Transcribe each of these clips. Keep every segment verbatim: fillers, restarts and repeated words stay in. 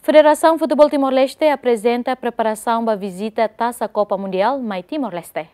Federasaun Futeból Timor-Leste aprezenta preparasaun ba vizita Tasa Kopa Mundiál mai Timor-Leste.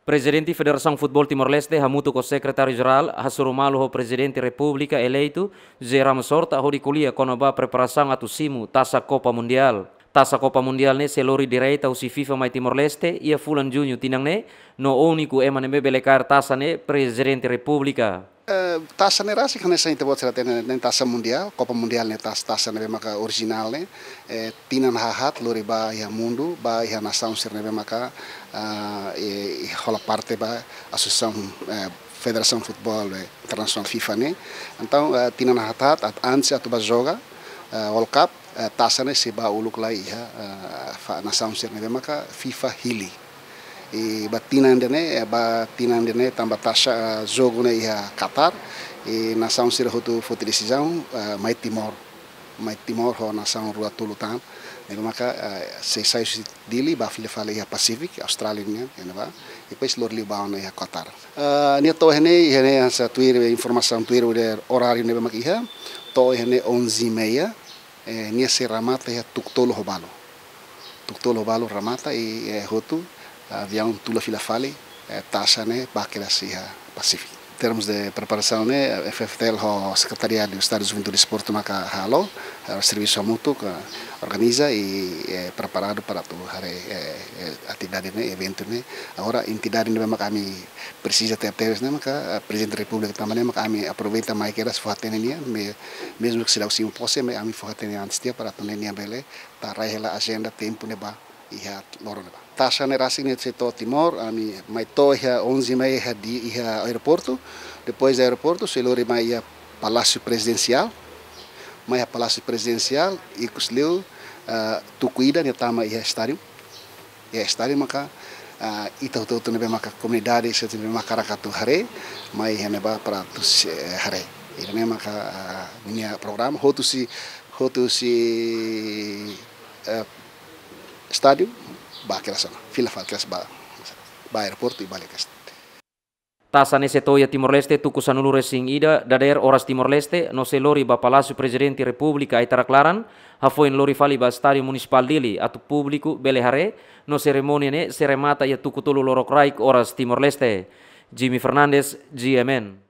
Prezidente Federasaun Futeból Timor-Leste hamutuk ho Sekretáriu Jerál hasoru malu ho Prezidente Repúblika eleitu José Ramos Horta hodi ko'alia kona-ba preparasaun atu simu Tasa Kopa Mundiál. Tasa Kopa Mundiál ne'e sei lori direta husi FIFA mai Timor-Leste iha fulan Juñu tinan ne'e, no úniku ema ne'ebé bele kaer tasa ne'e Prezidente Repúblika. Eh, tasa ne'e rasik hanesan ita-boot sira hatene ne'e, tasa mundiál, Kopa Mundiál ne'e tas-, tasa ne'ebé maka orijinál ne'e, eh, tinan haat lori ba iha mundu, ba iha nasaun sira ne'ebé maka, ah, eh, hola parte ba asosiasaun, eh, Federasaun Futeból, eh, Internasionál FIFA ne'e. Entaun, eh, tinan haat, haat antes atu ba joga, eh, World Cup, eh, tasa ne'e sei ba uluk lai iha, eh, fa-, nasaun sira ne'ebé maka FIFA hili. I ba tinan ida-ne'e, eh, ba tinan ida-ne'e tanba tasa, eh, jogu ne'e iha Qatar, i nasaun sira hotu foti desizaun, eh, mai Timor. Mai Timor ho nasaun rua tolu tan. Ne'ebé maka, eh, sei sai husi Dili ba fila fali iha Pacific, Austrália nian, iha ne'ebá. Depois lori liu ba ona iha Qatar. Eh, nia to'o iha ne'e, iha ne'e hanesan tuir, informasaun tuir, udah oráriu ne'ebé maka iha. To'o iha ne'e onze e meia, eh, nia sei remata iha tuku tolu ho balu. Tuku tolu ho balu remata i, eh, hotu, aviaun tula fila fali, eh, tasa ne'e ba kedas iha Pacific. Termus de preparasaun ne'e, eh, F F T L ho Sekretariadu Estadu Juventude Desportu maka halo, eh, servisu hamutuk, organiza i, eh, preparadu para atu haree, eh, eh, atividade ne'e, eventu ne'e. Agora, entidade ne'ebé maka ami presiza tebetebes ne'e maka, eh, Prezidente Repúblika tanba ne'e maka ami aproveita mai kedas fó-hatene nia, me-, mezmu ke seidauk simu pose, maibé ami fó-hatene antes tiha para atu nune'e nia bele tau rai hela ajenda tempu ne'ebá iha loron ne'ebá. Tasa ne'e rasik ne'e sei to'o Timor, ami mai to'o iha onze e meia iha di-, iha aeroportu, depois de aeroportu sei lori mai iha Palásiu Prezidensiál, mai iha Palásiu Prezidensiál, ikus liu, ah, tuku ida nia tama iha estádiu, iha estádiu maka, ah, ita hotu-hotu ne'ebé maka komunidade, sira ne'ebé maka hakarak atu haree, mai iha ne'ebá para atu sei, eh, haree. Ida-ne'e maka, ah, nia programa, hotu husi, hotu husi, eh, estádiu, ba kedas ona, fila fali kedas ba, ba aeroportu i ba liu kedas. Tasa ne'e sei to'o iha Timor-Leste tuku sanulu-resin-ida dadeer oras Timor-Leste, no sei lori ba Palásiu Prezidente Repúblika ai-tarak laran, hafoin lori fali ba Estádiu Munisipál Dili atu públiku bele haree, no serimónia ne'e sei remata iha tuku tolu lorokraik oras Timor-Leste. Jimmy Fernandes, G M N.